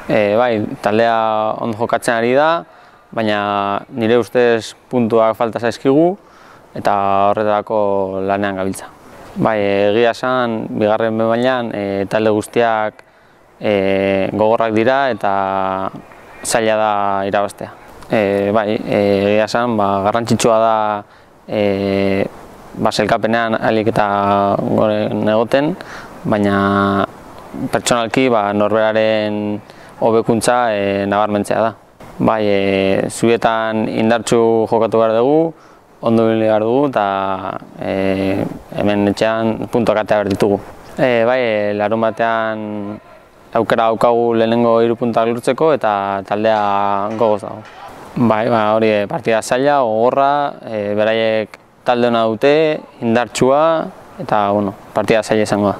Bai, taldea ondo jokatzen ari da, baina nire ustez puntuak falta zaizkigu eta horretarako lanean gabiltza. Bai, egia esan, bigarren mailan talde guztiak gogorrak dira eta zaila da irabaztea. Bai, egia esan, garrantzitsua da sailkapenean ahalik eta goren egoten, baina pertsonalki norberaren hobekuntza nabarmentzea da. Bai, zubietan indartsu jokatu behar dugu, ondo ibili behar dugu eta hemen etxean puntuak atea behar ditugu. Bai, larunbatean aukera daukagu lehenengo 3 puntak lortzeko eta taldea gogoz dago. Bai, hori partida zaila, gogorra, beraiek talde ona dute, indartsua eta partida zaila izango da.